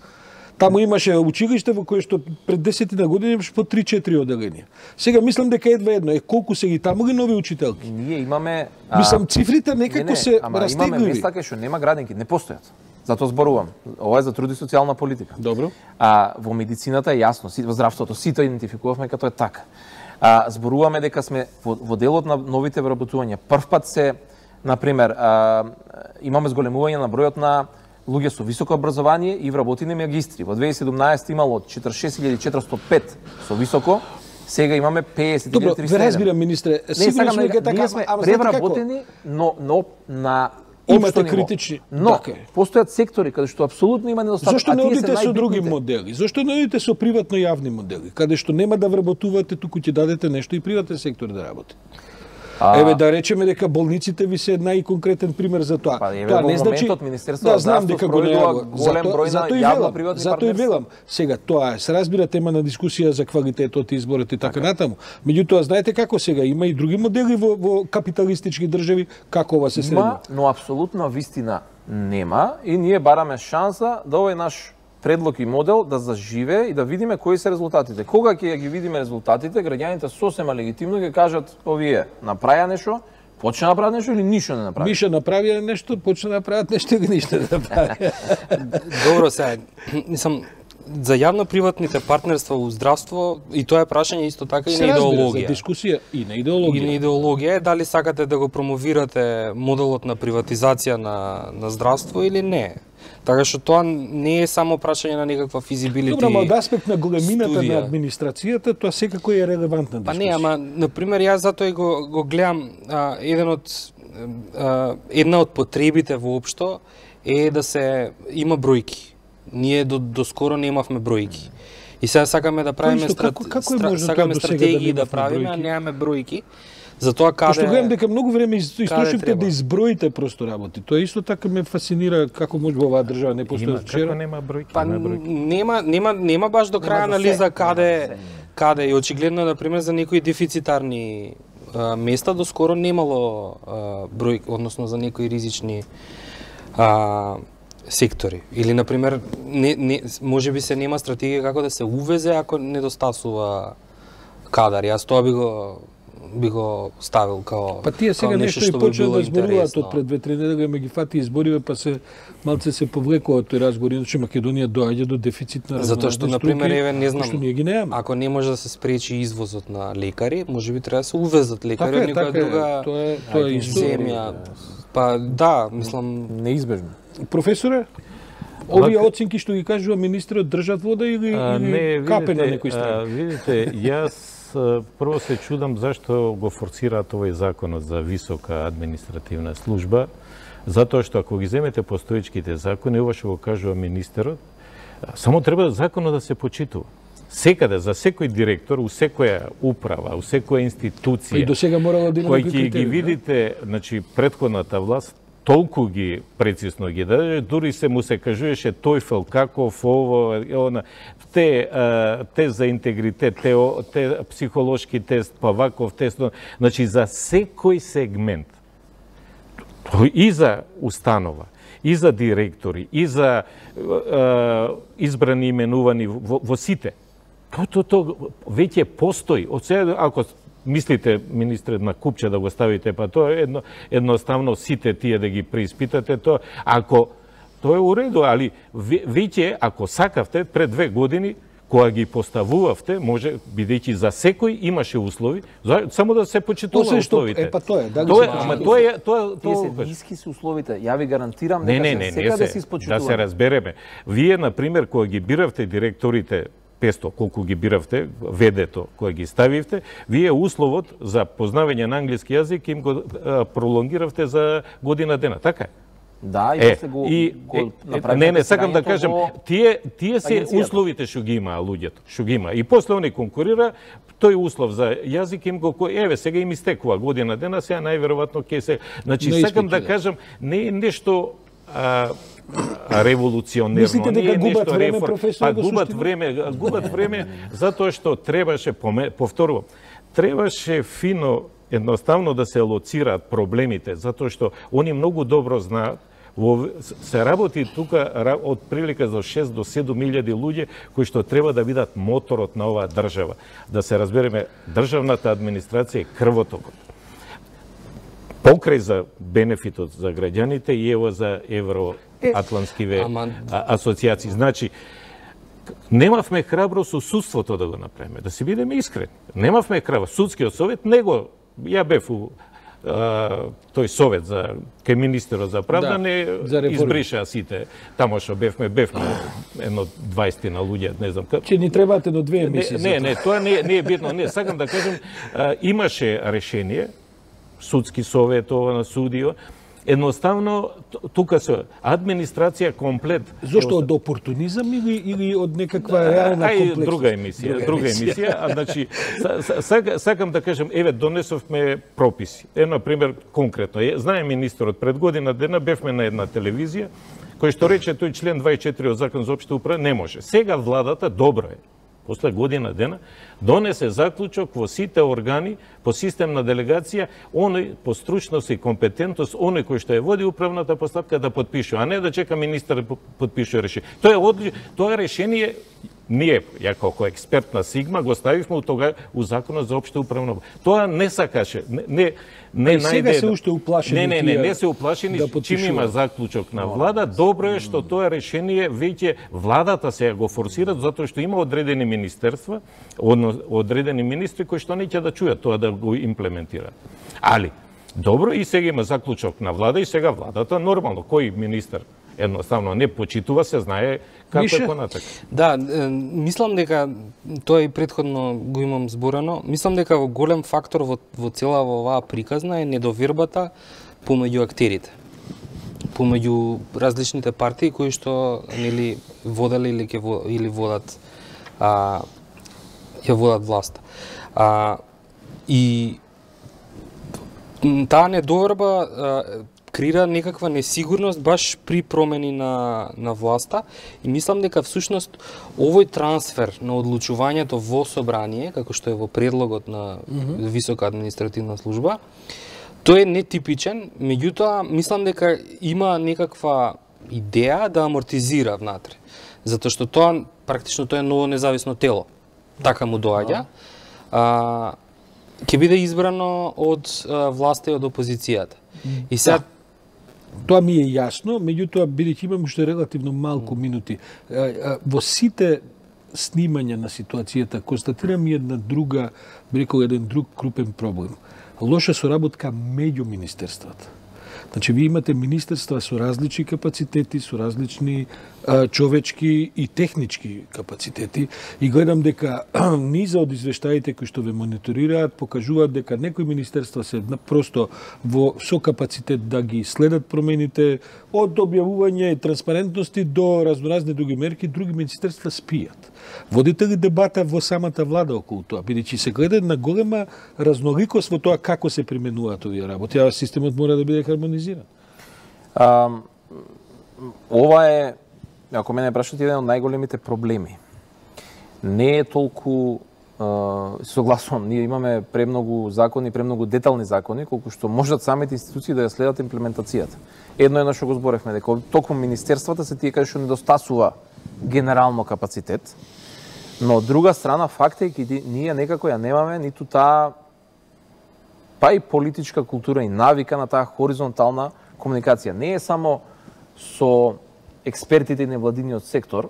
Таму имаше училиште во кое што пред 10 години имаше по 3-4 одделенија. Сега мислам дека едва едно. Колку се ги таму ли нови учителки? Ние имаме мислам цифрите некако се растегливи. Имаме места кај што нема градинки, не постојат. Затоа зборувам. Ова е за труд и социјална политика. Добро. Во медицината е јасно, во здравството сите идентификувавме като е така. Зборуваме дека сме во делот на новите вработувања. Првпат се, например, имаме зголемување на бројот на луѓе со високо образование и вработени магистри. Во 2017 имало 46.405 со високо, сега имаме 50.307. Добро, ве разбирам, министре. Сигурно сме дека така, сме превработени, но на имате критични, но постојат сектори каде што апсолутно има недостаток. Зошто не одите со други модели? Зошто не одите со приватно јавни модели, каде што нема да вработувате, туку ќе дадете нешто и приватен сектор да работи? Еве да речеме дека болниците ви се најконкретен пример за тоа. Тоа не значи да знам дека го неагува голем број на јавно-приватни партнерства. Затоа и велам. Сега тоа се разбира тема на дискусија за квалитетот и изборот и така натаму. Меѓутоа знаете како сега има и други модели во капиталистички држави како ова се следува. Но апсолутно вистина нема и ние бараме шанса да овој наш предлог и модел да заживе и да видиме кои се резултатите. Кога ќе ги видиме резултатите, граѓаните сосема легитимно ќе кажат овие направија нешто, почна да направат нешто или ништо не направи. Миша направија нешто, почна да направат нешто или ништо не направи. Добро сега, мислам за јавно-приватните партнерства во здравство и тоа е прашање исто така и на идеологија. За дискусија и на идеологија. И на идеологија е дали сакате да го промовирате моделот на приватизација на здравство или не. Така што тоа не е само прашање на некаква физибилити. Добро, од аспект на големината на администрацијата, тоа секако е релевантна дискусија. Па не, ама на пример јас затоа и го гледам една од потребите воопшто е да се има бројки. Ние до скоро немавме бројки. И сега сакаме да правиме стратегии да правиме, а немаме бројки. Затоа каде што гледам дека многу време истрошивте да изброите просто работи. Тоа исто така ме фасцинира како може во оваа држава не постои вчера. Нема бројки. Па нема баш до крај анализа каде и очигледно на пример за некои дефицитарни места до скоро немало бројки, односно за некои ризични сектори. Или на пример можеби се нема стратегија како да се увезе ако недостасува кадар. Јас тоа би го би го ставил као Па тие сега нешто и почнаа да зборуваат од пред 2-3 недели, ме ги фати избориве, па се малце се повлекува тој разговор, иначе Македонија доаѓа до дефицит на затоа што на пример еве не знам, што ние ги немаме. ако не може да се спречи извозот на лекари, можеби треба да се увезат лекари од некоја друга тоа е исто. земја. Па да, мислам неизбежно. Професоре, овие оценки што ги кажува министерот држат вода или капе на некој страна? Видите, јас прво се чудам зашто го форсираат овој законот за висока административна служба, затоа што ако ги земете постоечките закони, ова што го кажува министерот, само треба законот да се почитува. Секаде, за секој директор, у секоја управа, у секоја институција, и до сега морало да има кој ќе ги видите, значи, предходната власт, толку ги прецизно ги даде, дури се му се кажуваше тојфел, каков, ово, она, те за интегритет, те психолошки тест, па ваков тест, значи за секој сегмент, и за установа, и за директори, и за избрани именувани во сите. То веќе постои. Од сега, ако мислите, министре, на купче да го ставите, па тоа е едноставно сите тие да ги преиспитате, тоа, ако тоа е уреду, али веќе, ако сакавте, пред 2 години, кога ги поставувавте, може, бидејќи за секој имаше услови, само да се почитува условите. Па тоа е, да ги Тие се ниски се условите. Ја ви гарантирам дека секаде се испочитува. Да се разбереме. Вие, на пример, кога ги биравте директорите 500, колку ги биравте, ведето кој ги ставивте, вие условот за познавање на англиски јазик им го пролонгиравте за година дена, така е? Да, и после го направите. Не, сакам да кажам, тие се условите што ги имаа луѓето, што ги има. И после они конкурира, тој услов за јазик им го, еве, сега им истекува година дена, сега најверојатно ќе се... Значи, сакам да кажам, не е нешто револуционерно. Мислите дека губат време, професор? Губат време затоа што требаше, повторувам, требаше фино, едноставно да се лоцираат проблемите, затоа што они многу добро знаат. Се работи тука од прилика до 6 до 7.000 луѓе кои што треба да бидат моторот на оваа држава. Да се разбереме, државната администрација е крвотокот. Покрај за бенефитот за граѓаните и ево за евроатлантскиве асоцијации. Значи, немавме храбро со судството да го направиме, да се бидеме искрени. Немавме храбро. Судскиот совет него, ја бев у тој совет за кај министерот за правда, не избриша сите тамо што бевме едно 20 на луѓе, не знам како. Че ни требаат едно 2 емисии. Не, тоа не е битно. Не, сакам да кажам, имаше решение, судски совет ова на судио, едноставно тука се администрација комплет. Зошто од опортунизам или од некаква реална комплексност? Друга емисија. Значи сакам да кажам, еве донесовме прописи. На пример конкретно, знае министерот пред година дена бевме на една телевизија кој што рече тој член 24 од Закон за општа управа не може. Сега владата добро е. После година дена, донесе заклучок во сите органи по систем на делегација, оној по стручност и компетентност, оној кој што ја води управната постапка да подпише, а не да чека министар да подпише решение. Тоа решение ние, ја како експерт на Сигма, го ставивме у Законот за општа управно. Тоа не сакаше, не сега се уште уплашени. Не се уплашени, чим има заклучок на влада. Добро е што тоа решение веќе владата се го форсира, затоа што има одредени министерства, одредени министри кои што не ќе да чујат тоа да го имплементираат. Али, добро, и сега има заклучок на влада, и сега владата, нормално, кој министер едноставно не почитува, се знае како е понатак. Да, мислам дека тоа и претходно го имам зборено. Мислам дека голем фактор во цела оваа приказна е недовербата помеѓу актерите. Помеѓу различните партии кои што нели водели или водат ја водат власта. И таа недоверба креира некаква несигурност баш при промени на власта и мислам дека всушност овој трансфер на одлучувањето во собрание, како што е во предлогот на висока административна служба, тој е нетипичен, меѓутоа мислам дека има некаква идеја да амортизира внатре, затоа што тоа практично тоа е ново независно тело. Така му доаѓа. ќе биде избрано од власта и од опозицијата. И сега Тоа ми е јасно, меѓутоа бидејќи имам уште релативно малку минути, во сите снимања на ситуацијата констатирам една друга, би рекол еден друг крупен проблем. Лоша соработка меѓу министерствата. Значи, ви имате министерства со различни капацитети, со различни човечки и технички капацитети и гледам дека низа од извештаите кои што ве мониторираат покажуваат дека некои министерства се просто со капацитет да ги следат промените од објавување транспарентности до разноразни други мерки, други министерства спијат. Водите ли дебата во самата влада околу тоа, бидејќи се гледа на голема разноликост во тоа како се применуваат овие работи, а системот мора да биде хармонизиран? Ова е, ако мене прашате, еден од најголемите проблеми. Не е толку, согласувам, ние имаме премногу закони, премногу детални закони, колку што можат самите институции да ја следат имплементацијата. Едно што го зборевме, дека токму министерствата се тие кај што недостасува генерално капацитет, но од друга страна факт е дека ние некако ја немаме ниту таа па и политичка култура и навика на таа хоризонтална комуникација. Не е само со експертите и невладиниот сектор,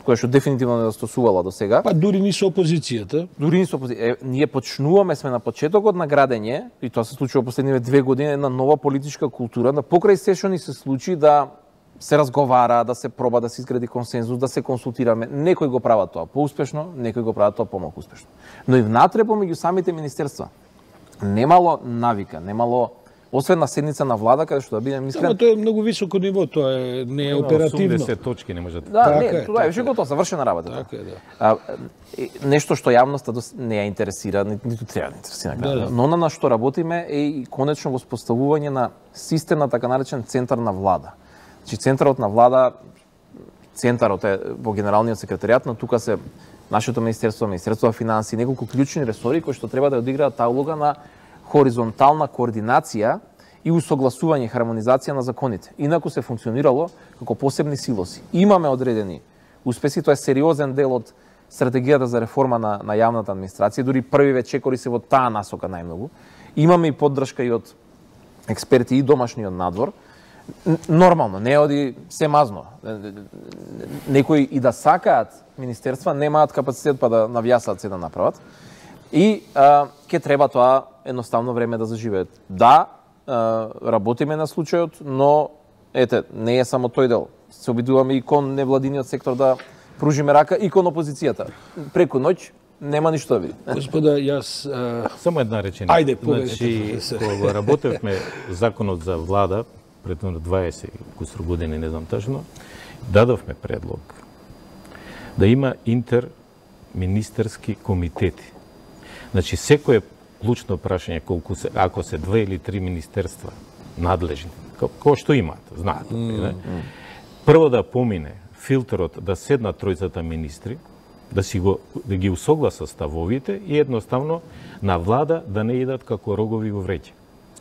која што дефинитивно недостасувала до сега. Па дури ни со опозицијата. Дури ни со опозицијата. Ние почнуваме, сме на почетокот на градење, и тоа се случува последниве 2 години, една нова политичка култура, да покрај се што ни се случи да се разговара, да се проба да се изгради консензус, да се консултираме. Некои го прават тоа поуспешно, некои го прават тоа помалку успешно. Но и внатре помеѓу самите министерства немало навика, немало освен на седница на влада, каде што да бидем искрен. Тоа е многу високо ниво, тоа е не е оперативно. 80 точки не може да. Не, тоа е више готово, завршена работа. Така е, да. Нешто што јавноста не ја интересира, ниту треба да интересира. Да. Но на што работиме е и конечно воспоставување на систем на така наречен центар на влада. Значи центарот на влада, центарот е во генералниот секретаријат, но тука се нашето министерство, Министерство за финансии, неколку клучни ресори кои што треба да одиграат таа улога на хоризонтална координација и усогласување, хармонизација на законите. Инаку се функционирало како посебни силоси. Имаме одредени успеси, тоа е сериозен дел од стратегијата за реформа на јавната администрација, дури првиве чекори се во таа насока најмногу. Имаме и поддршка и од експерти и домашниот надвор. Нормално, не оди се мазно. Некои и да сакаат министерства, немаат капацитет па да навјасаат се да направат. И ќе треба тоа едноставно време да заживеат. Да, работиме на случајот, но ете, не е само тој дел. Се обидуваме и кон невладиниот сектор да пружиме рака и кон опозицијата. Преку ноќ нема ништо да види. Господа, јас само една реченица. Ајде, значи, кога работевме законот за влада пред 20 кусур години, не знам тажно, дадовме предлог да има интерминистерски комитети. Значи, секое клучно прашање, ако се 2 или 3 министерства надлежни, кој што имаат, знаат. Прво да помине филтерот да седнат тројцата министри, да ги усогласат ставовите и едноставно на влада да не идат како рогови во вреќе.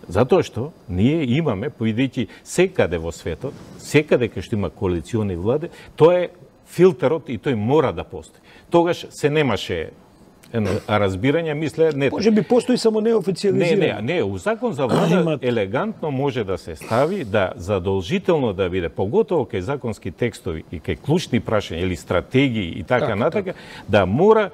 Затоа што ние имаме, поидејќи секаде во светот, секаде кај што има коалициони влади, тоа е филтерот и тој мора да постои. Тогаш се немаше разбирање, мисле, не. Може би постои само неофициализирано. Не, у закон за влада елегантно може да се стави да задолжително да биде, поготово кај законски текстови и кај клучни прашања или стратегии и така натака, да мора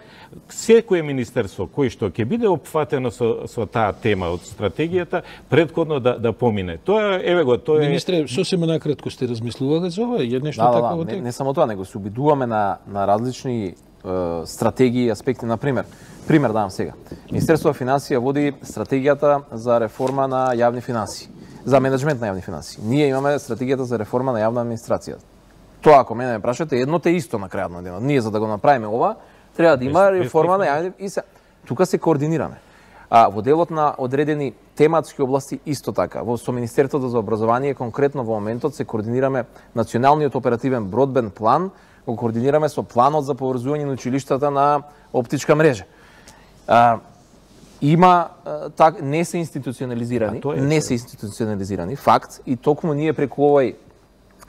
секое министерство кој што ќе биде опфатено со таа тема од стратегијата предходно да помине. Тоа еве го, тоа е. Министре, сосема накратко сте размислувале за ова? Е нешто такво? Не само тоа, него се обидуваме на различни стратегии и аспекти. Например, давам сега. Министерство за финансија води стратегијата за реформа на јавни финансии, за менеджмент на јавни финансии. Ние имаме стратегијата за реформа на јавна администрација. Тоа, ако мене ме прашате, едно те исто на крајот на денот. Ние за да го направиме ова, треба да има реформа на јавни и тука се координираме. Во делот на одредени тематски области исто така. Со Министерството за образование конкретно во моментот се координираме националниот оперативен бродбенд план, го координираме со планот за поврзување на училиштата на оптичка мрежа. Има не се институционализирани, факт, и токму ние преку овој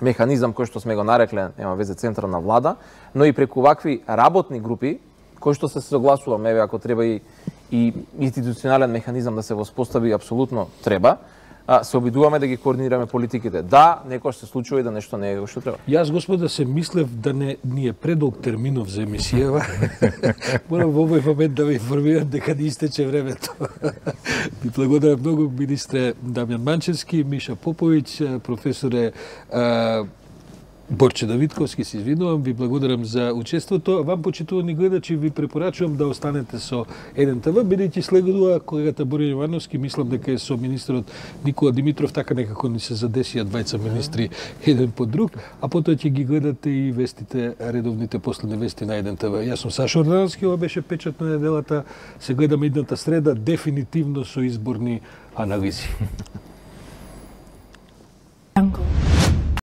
механизам кој што сме го нарекле, нема везе центар на влада, но и преку вакви работни групи кои што се согласуваме, еве ако треба и и институционален механизам да се воспостави апсолутно треба, се обидуваме да ги координираме политиките. Да, некојаш се случува и да нешто не е што треба. Јас, господа, се мислев да не ни е предолг терминов за емисијава. Морам во овој момент да ве информирам дека не истече времето. Ви благодарам многу, министре Дамјан Манчевски, Миша Поповиќ, професоре Борче Давидковски, се извинувам, ви благодарам за учеството. Вам, почитувани гледачи, ви препорачувам да останете со НТВ, бидејќи следува колегата Боријан Јовановски, мислам дека е со министерот Никола Димитров, така некако ни се задесија двајца министри еден по друг, а потоа ќе ги гледате и вестите, редовните последни вести на НТВ. Јас сум Сашо Ордановски, ова беше Печат на неделата. Се гледаме идната среда, дефинитивно со изборни анализи.